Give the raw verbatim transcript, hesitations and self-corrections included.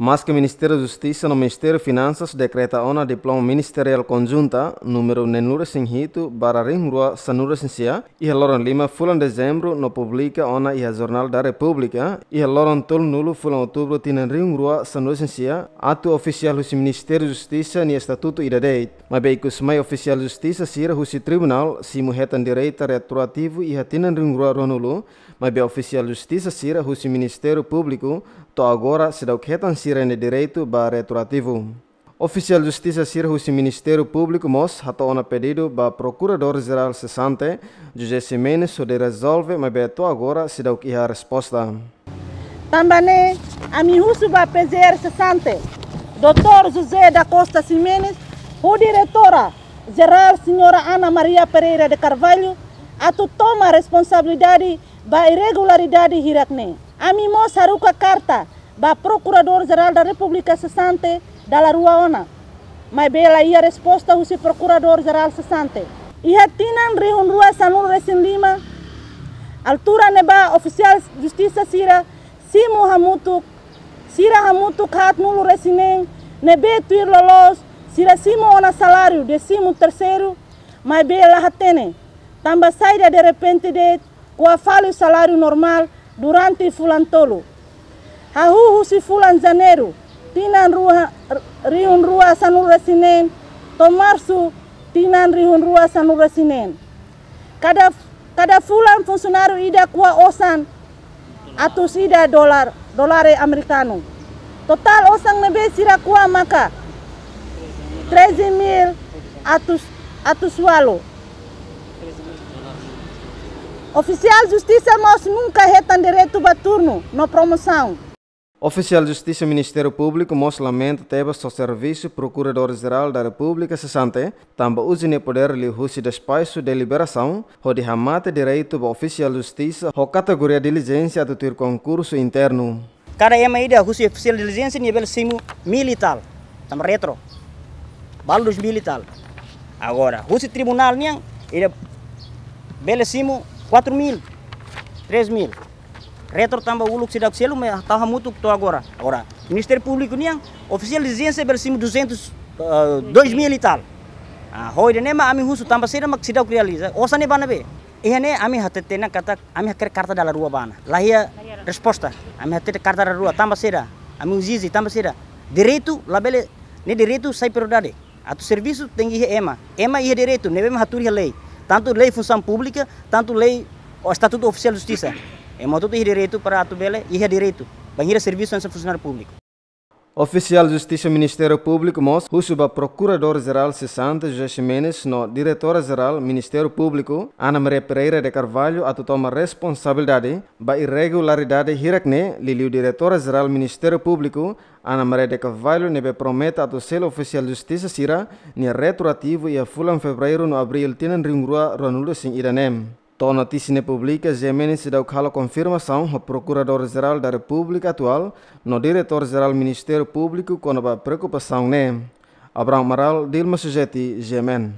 Maske Ministériu Justisa no Ministériu Finansas dekreta ona Diploma Ministeriál Konjunta númeru neenulu-resin-hitu barra rihun rua sanulu-resin-sia iha loron lima fulan Dezembru no publika ona iha Jornál da Repúblika iha loron tolunulu fulan Outubru tinan rihun rua sanulu-resin-sia, atu ofisiál husi Ministériu Justisa nia estatutu ida de'it. Maibé ikusmai ofisiál justisa sira husi tribunál simu hetan direitu retroativu iha tinan rihun rua ruanulu, maibé ofisiál justisa sira husi Ministériu Públiku to'o agora seidauk hetan sira-nia direitu ba retroativu. Ofisiál justisa sira husi Ministériu Públiku mós hato'o ona pedidu ba Prokuradór Jerál sesante, José Ximenes, hodi rezolve, maibé to'o agora seidauk iha resposta. Tanba ne'e, ami husu ba P J R sesante, doutór José da Costa Ximenes, ho Diretora Jerál Señora Ana Maria Pereira de Carvalho, atu toma responsabilidade ba irregularidade hirak-ne'e. Ami mós haruka karta ba Prokuradór Jerál da Repúblika sesante dala rua ona, maibé la iha resposta husi Prokuradór Jerál sesante. Iha tinan rihun rua sanulu-resin-lima, altura ne'ebá ofisiál justisa sira simu hamutuk, sira hamutuk haatnulu-resin-neen, ne'ebé tuir loloos sira simu ona saláriu désimu terseiru, maibé la hatene tanba saida derrepente de'it kuak fali saláriu normál durante fulan tolu. Hahú husi fulan Janeiru tinan rua, rihun rua sanulu-resin-neen to'o Marsu tinan rihun rua sanulu-resin-neen. Kada, kada fulan funsionáriu ida kuak osan atus ida dolar, dolar amerikanu. Totál osan ne'ebé sira kuak maka treze mil atus, atus ualu. Ofisiál justisa mós nunka hetan direitu ba turnu no promosaun. Ofisiál justisa Ministériu Públiku mós lamenta tebes ho servisu Prokuradór Jerál da Repúblika sesante, tanba uza nia podér liuhusi despaxu deliberasaun, hodi hamate direitu ba ofisiál justisa ho kategoria dilijénsia atu tuir konkursu internu. Kada ema ida husi ofisiál dilijénsia nia bele simu mil e tal, tanba retro. Balu dois mil e tal. Agora, husi tribunál nian, ida bele simu quatro mil, três mil. Retro tanba uluk seidauk selu, maibé tau hamutuk to'o agora. Agora, Ministériu Públiku nian, ofisiál dilijénsia bele simu duzentos, eh, dois mil e tal. Ah, ho ida-ne'e mak ami husu tanba saida mak seidauk realiza. Osan ne'e ba ne'ebé? Iha ne'e ami hatete ona katak ami hakerek karta dala rua ba ona. La iha resposta. Ami hatete karta dala rua tanba saida. Ami ezije tanba saida. Direitu labele, ne'e direitu sai prioridade. Atu servisu tenke iha ema. Ema iha direitu, ne'ebé mak hatuur iha lei. Tantu lei funsaun públika, tantu lei ho estatutu ofisiál justisa. Ema hotu iha direitu para atu bele, iha direitu. Bainhira servisu hanesan funsionáriu públiku. Ofisiál justisa Ministériu Públiku mós husu ba Prokuradór Jerál sesante José Ximenes no Diretora Jerál Ministériu Públiku, Ana Maria Pereira de Carvalho, atu toma responsabilidade ba irregularidade hirak-ne'e, liuliu Diretora Jerál Ministériu Públiku, Ana Maria de Carvalho, ne'ebé promete atu selu ofisiál justisa sira-nia retroativu iha fulan Fevereiru no Abríl tinan rihun rua ruanulu-resin-ida ne'e. To'o notísia ne'e publika, Ximenes seidauk halo konfirmasaun ho Prokuradór Jerál da Repúblika atuál no Diretór Jerál Ministériu Públiku kona-ba preokupasaun ne'e. Abraham Amaral, Dilma Sujeti, G M N.